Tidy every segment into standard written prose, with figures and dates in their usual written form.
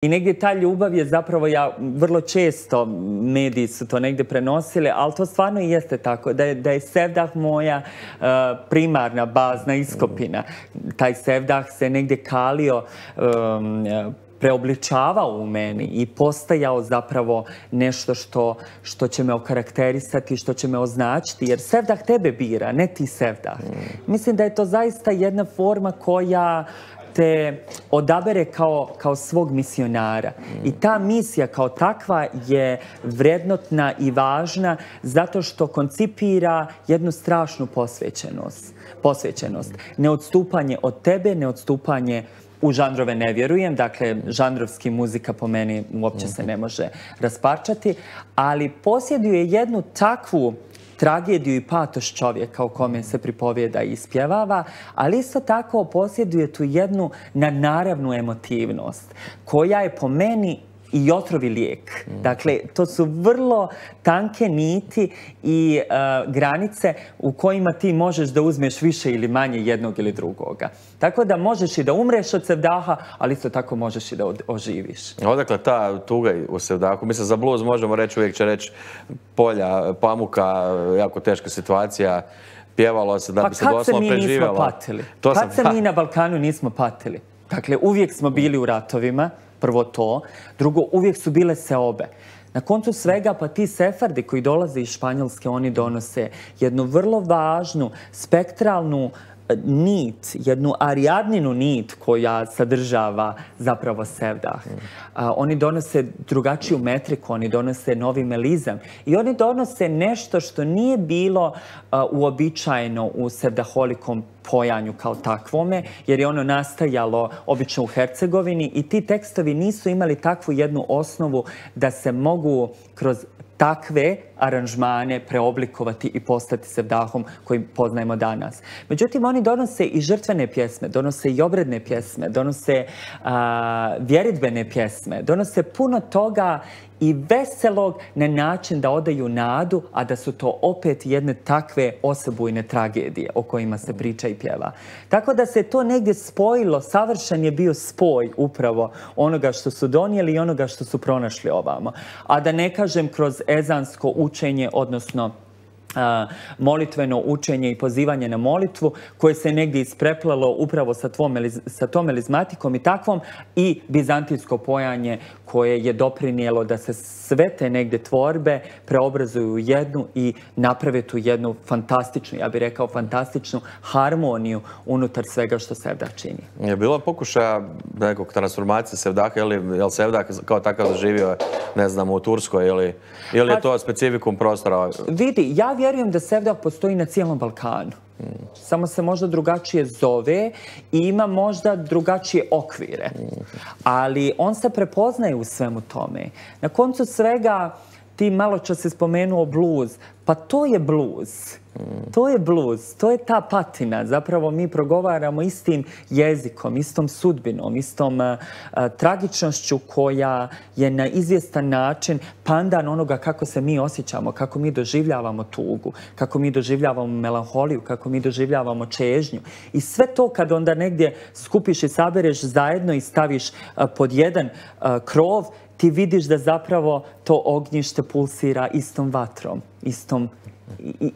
I negdje ta ljubav je zapravo, ja vrlo često, mediji su to negdje prenosili, ali to stvarno i jeste tako, da je sevdah moja primarna, bazna iskopina. Taj sevdah se negdje kalio, preobličavao u meni i postajao zapravo nešto što će me okarakterisati, što će me označiti, jer sevdah tebe bira, ne ti sevdah. Mislim da je to zaista jedna forma koja te odabere kao svog misionara. I ta misija kao takva je vrednotna i važna zato što koncipira jednu strašnu posvećenost. Neodstupanje od tebe, neodstupanje u žanrove ne vjerujem, dakle, žanrovski muzika po meni uopće se ne može rasparčati, ali posjeduje jednu takvu tragediju i patos čovjeka o kome se pripovijeda i ispjevava, ali isto tako posjeduje tu jednu nadnaravnu emotivnost, koja je po meni i otrovi lijek. Dakle, to su vrlo tanke niti i granice u kojima ti možeš da uzmeš više ili manje jednog ili drugoga. Tako da možeš i da umreš od sevdaha, ali isto tako možeš i da oživiš. Odakle ta tuga u sevdahu? Mislim, za blues možemo reći, uvijek će reći polja, pamuka, jako teška situacija, pjevalo se da bi se doslovno preživjelo. Pa kad se mi nismo patili? Kad se mi na Balkanu nismo patili? Dakle, uvijek smo bili u ratovima, prvo to. Drugo, uvijek su bile seobe. Na koncu svega, pa ti sefardi koji dolaze iz Španjolske, oni donose jednu vrlo važnu, spektralnu nit, jednu arijadninu nit koja sadržava zapravo sevdah. Oni donose drugačiju metriku, oni donose novi melizam i oni donose nešto što nije bilo uobičajeno u sevdaholikom pojanju kao takvome, jer je ono nastajalo obično u Hercegovini i ti tekstovi nisu imali takvu jednu osnovu da se mogu kroz takve aranžmane preoblikovati i postati sevdahom koji poznajemo danas. Međutim, oni donose i žrtvene pjesme, donose i obredne pjesme, donose vjeridbene pjesme, donose puno toga i veselog na način da odaju nadu, a da su to opet jedne takve osebujne tragedije o kojima se priča i pjeva. Tako da se to negdje spojilo, savršen je bio spoj upravo onoga što su donijeli i onoga što su pronašli ovamo. A da ne kažem kroz ezansko učenje, odnosno molitveno učenje i pozivanje na molitvu koje se negdje ispreplalo upravo sa tom melizmatikom i takvom i bizantijsko pojanje koje je doprinijelo da se sve te negdje tvorbe preobrazuju u jednu i naprave tu jednu fantastičnu, ja bih rekao fantastičnu harmoniju unutar svega što sevdah čini. Je bilo pokušaja nekog transformacije sevdaha, je li sevdah kao takav zaživio, ne znam, u Turskoj ili je to specifikum prostora? Vidi, ja vjerujem da sevdah postoji na cijelom Balkanu. Samo se možda drugačije zove i ima možda drugačije okvire. Ali on se prepoznaje u svemu tome. Na koncu svega, ti malo čas se spomenuo blues. Pa to je blues. To je blues. To je ta patina. Zapravo mi progovaramo istim jezikom, istom sudbinom, istom tragičnošću koja je na izvjestan način pandan onoga kako se mi osjećamo, kako mi doživljavamo tugu, kako mi doživljavamo melanholiju, kako mi doživljavamo čežnju. I sve to kad onda negdje skupiš i sabereš zajedno i staviš pod jedan krov, ti vidiš da zapravo to ognjište pulsira istom vatrom,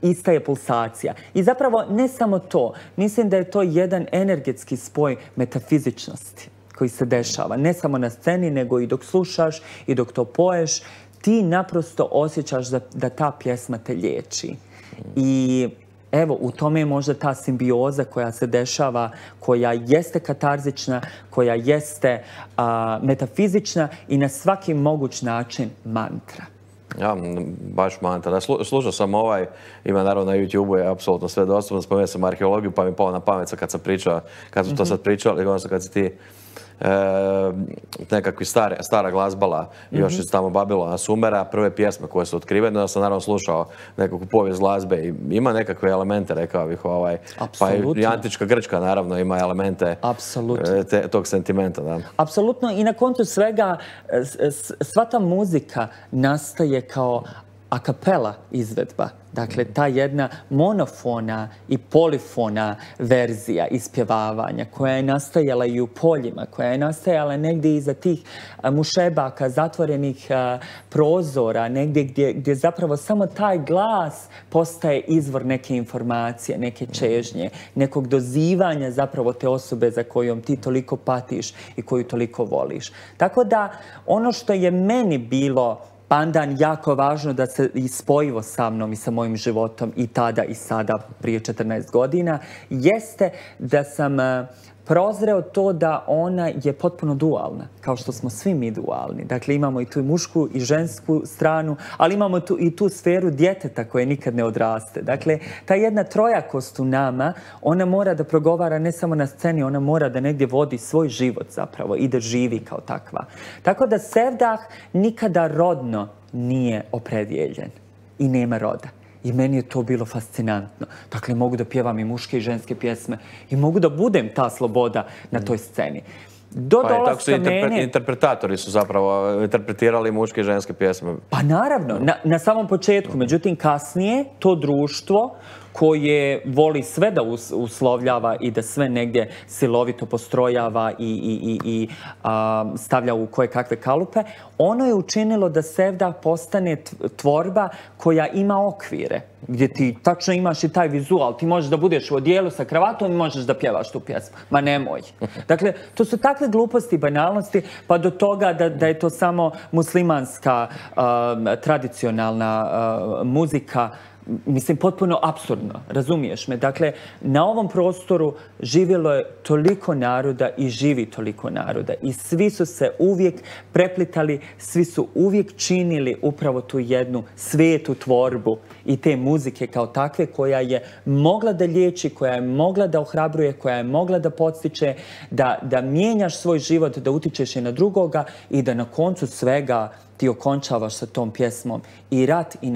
ista je pulsacija. I zapravo ne samo to, mislim da je to jedan energetski spoj metafizičnosti koji se dešava. Ne samo na sceni, nego i dok slušaš i dok to poješ, ti naprosto osjećaš da ta pjesma te liječi. I evo, u tome je možda ta simbioza koja se dešava, koja jeste katarzična, koja jeste metafizična i na svaki moguć način mantra. Ja, baš mantra. Slušao sam ima naravno na YouTube-u je apsolutno sve dostupno, spomenuo sam arheologiju pa mi je palo na pamet kad sam pričao, kad smo to sad pričali, odnosno kad si ti nekakvi stara glazbala još iz tamo Babilona, Sumera, prve pjesme koje su otkrivene, da sam naravno slušao nekakvu povijest glazbe i ima nekakve elemente, rekao bih, pa i antička Grčka naravno ima elemente tog sentimenta. Apsolutno i na koncu svega sva ta muzika nastaje kao a cappella izvedba. Dakle, ta jedna monofona i polifona verzija ispjevavanja koja je nastajala i u poljima, koja je nastajala negdje iza tih mušebaka, zatvorenih prozora, negdje gdje zapravo samo taj glas postaje izvor neke informacije, neke čežnje, nekog dozivanja zapravo te osobe za kojom ti toliko patiš i koju toliko voliš. Tako da ono što je meni bilo pandan jako važno da se spojivo sa mnom i sa mojim životom i tada i sada prije 14 godina, jeste da sam prozreo to da ona je potpuno dualna, kao što smo svi mi dualni. Dakle, imamo i tu mušku i žensku stranu, ali imamo i tu sferu djeteta koje nikad ne odraste. Dakle, ta jedna trojakost u nama, ona mora da progovara ne samo na sceni, ona mora da negdje vodi svoj život zapravo i da živi kao takva. Tako da Sevdah nikada rodno nije opredjeljen i nema roda. I meni je to bilo fascinantno. Dakle, mogu da pjevam i muške i ženske pjesme i mogu da budem ta sloboda na toj sceni. Tako su interpretatori su zapravo interpretirali muške i ženske pjesme. Pa naravno, na samom početku. Međutim, kasnije to društvo koje voli sve da uslovljava i da sve negdje silovito postrojava i stavlja u koje kakve kalupe, ono je učinilo da Sevdah postane tvorba koja ima okvire, gdje ti tačno imaš i taj vizual. Ti možeš da budeš u odijelu sa kravatom i možeš da pjevaš tu pjesmu. Ma nemoj. Dakle, to su takve gluposti i banalnosti, pa do toga da je to samo muslimanska tradicionalna muzika. Mislim, potpuno apsurdno, razumiješ me? Dakle, na ovom prostoru živjelo je toliko naroda i živi toliko naroda. I svi su se uvijek preplitali, svi su uvijek činili upravo tu jednu svetu tvorbu i te muzike kao takve koja je mogla da liječi, koja je mogla da ohrabruje, koja je mogla da podstiče, da mijenjaš svoj život, da utičeš i na drugoga i da na koncu svega ti okončavaš sa tom pjesmom i rat i